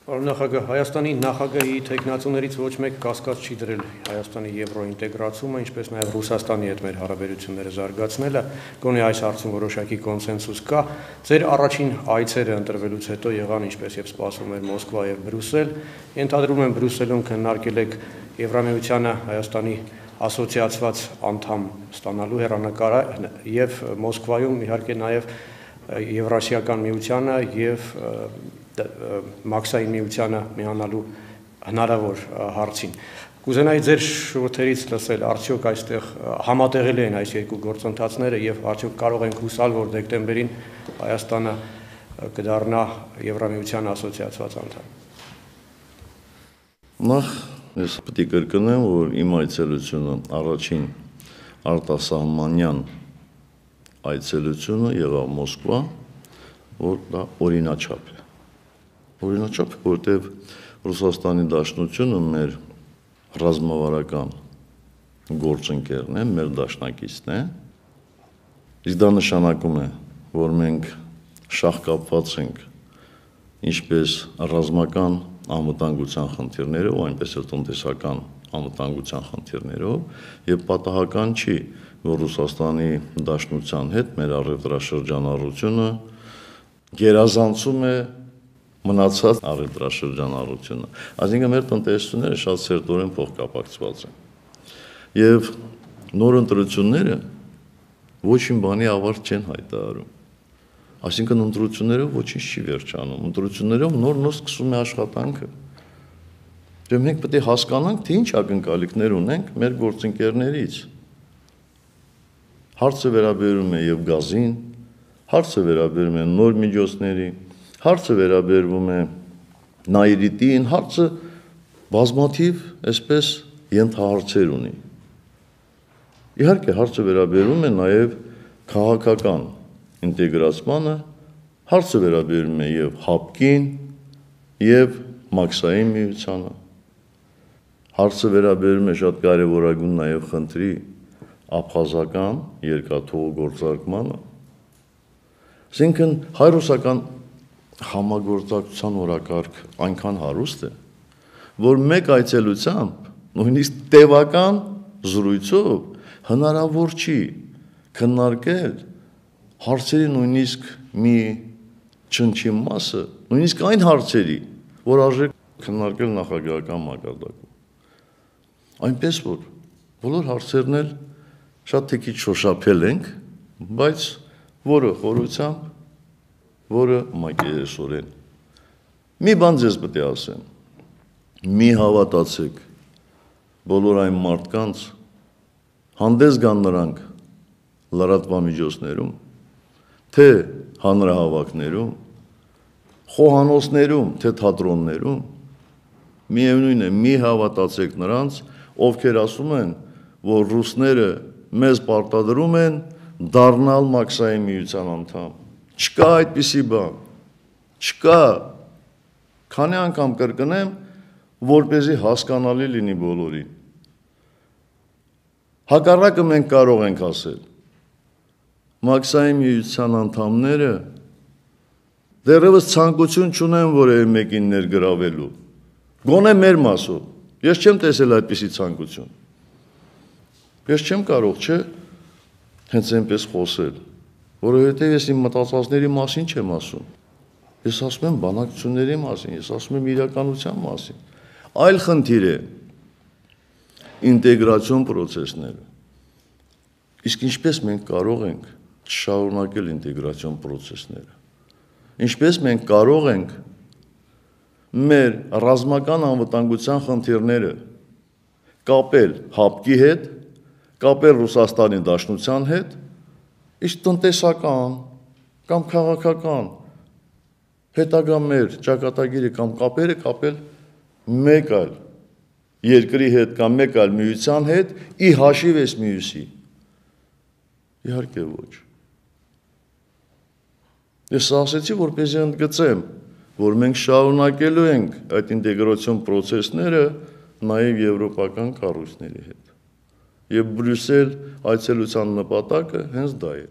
Նախագահ, Հայաստանի նախագահի թեկնածուներից ոչ մեկ կասկած չի դրել Հայաստանի եվրոինտեգրացումը, ինչպես նաև Ռուսաստանի հետ մեր հարաբերությունները զարգացնելը, գոնե այս հարցում որոշակի կոնսենսուս կա։ Ձեր առաջին այցերը ընտրվելուց հետո եղան, ինչպես եւ սպասվում էր, Մոսկվա եւ Բրյուսել։ Ենթադրում եմ Բրյուսելում քննարկել եք Եվրամիությանը Հայաստանի ասոցիացված անդամ ստանալու հեռանկարը եւ Մոսկվայում իհարկե նաև Եվրասիական միությանը եւ Մաքսային միությանը միանալու հնարավոր հարցին։ Կուզենայի ձեր շուրթերից լսել, արդյոք այստեղ համատեղելի են այս երկու գործընթացները եւ արդյոք կարող ենք հուսալ, որ դեկտեմբերին Հայաստանը կդառնա Եվրամիության ասոցիացված անդամ։ Նախ ես պետք է կրկնեմ, որ իմ այցելությունը առաջին արտասահմանյան այցելությունը եղավ Մոսկվա, որ դա օրինաչափ է։ Օրինաչափ է, որտեղ Ռուսաստանի Դաշնությունը մեր ռազմավարական գործընկերն է, մեր դաշնակիցն է, իսկ դա նշանակում է, որ մենք շահկապված ենք ինչպես ռազմական անվտանգության խնդիրներով, այնպես էլ տնտեսական անվտանգության խնդիրներով, եւ պատահական չի, որ Ռուսաստանի Դաշնության հետ մեր առևտրաշրջանառությունը գերազանցում է մնացած առևտրաշրջանառությունը։ Այսինքն մեր տնտեսությունները շատ սերտորեն փոխկապակցված են։ Եվ նոր ընտրությունները ոչինչ բանի ավարտ չեն հայտարարում։ Այսինքն ընտրություններով ոչինչ չի վերջանում։ Ընտրություններով նոր սկսում է աշխատանքը։ Դե մենք պետք է հասկանանք, թե ինչ ակնկալիքներ ունենք մեր գործընկերներից։ Հարցը վերաբերում է եւ գազին, հարցը վերաբերում է նոր միջոցների, հարցը վերաբերում է նայրիտին, հարցը բազմաթիվ այսպես ենթահարցեր ունի։ Իհարկե հարցը վերաբերում է նաեւ քաղաքական ինտեգրացմանը, հարցը վերաբերում է եւ ՀԱՊԿ-ին, եւ Մաքսային միությանը։ Հարցը վերաբերում է շատ կարևորագույն նաեւ խնդրի աբխազական երկաթուղու գործարկմանը։ Այսինքն հայ-ռուսական համագործակցության օրակարգ այնքան հարուստ է, որ մեկ այցելությամբ, նույնիսկ տևական զրույցով հնարավոր չի քննարկել հարցերի նույնիսկ մի չնչին մասը, նույնիսկ այն հարցերի, որ արժե քննարկել նախագահական մակարդակում։ Այնպես որ բոլոր հարցերն էլ շատ թե քիչ շոշափել ենք, բայց որը խորությամբ, որը մակերեսորեն։ Մի բան ձեզ պետք է ասեմ, մի հավատացեք բոլոր այն մարդկանց, հանդես գան նրանք լրատվամիջոցներում, թե հանրահավաքներում, խոհանոցներում, թե թատրոններում, միևնույն է, մի հավատացեք նրանց, ովքեր ասում են, որ ռուսները մեզ պարտադրում են դառնալ Մաքսային միության անդամ։ Չկա այդպիսի բան, չկա, քանի անգամ կրկնեմ, որպեսզի հասկանալի լինի բոլորին։ Հակառակը մենք կարող ենք ասել, Մաքսային միության անդամները դեռևս ցանկություն չունեն որևէ մեկին ներգրավելու, գոնե մեր մասով, ես չեմ տեսել այդպիսի ցանկություն։ Ես չեմ կարող, չէ, հենց այնպես խոսել, որովհետև ես իմ մտածածների մասին չեմ ասում։ Ես ասում եմ բանակցությունների մասին, ես ասում եմ իրականության մասին։ Այլ խնդիր է ինտեգրացիոն պրոցեսները։ Իսկ ինչպես մենք կարող ենք շարունակել ինտեգրացիոն պրոցեսները։ Ինչպես մենք կարող ենք մեր ռազմական անվտանգության խնդիրները կապել ՀԱՊԿ-ի հետ, կապել Ռուսաստանի Դաշնության հետ, իսկ տնտեսական կամ քաղաքական հետագա մեր ճակատագիրը կամ կապերը կապել մեկ այլ երկրի հետ կամ մեկ այլ միության հետ ի հաշիվ էս մյուսի։ Իհարկե ոչ։ Ես ասեցի, որպեսզի ընդգծեմ, որ մենք շարունակելու ենք այդ ինտեգրացիոն պրոցեսները նաև եվրոպական կառույցների հետ։ Եվ Բրյուսել այցելության նպատակը հենց դա է։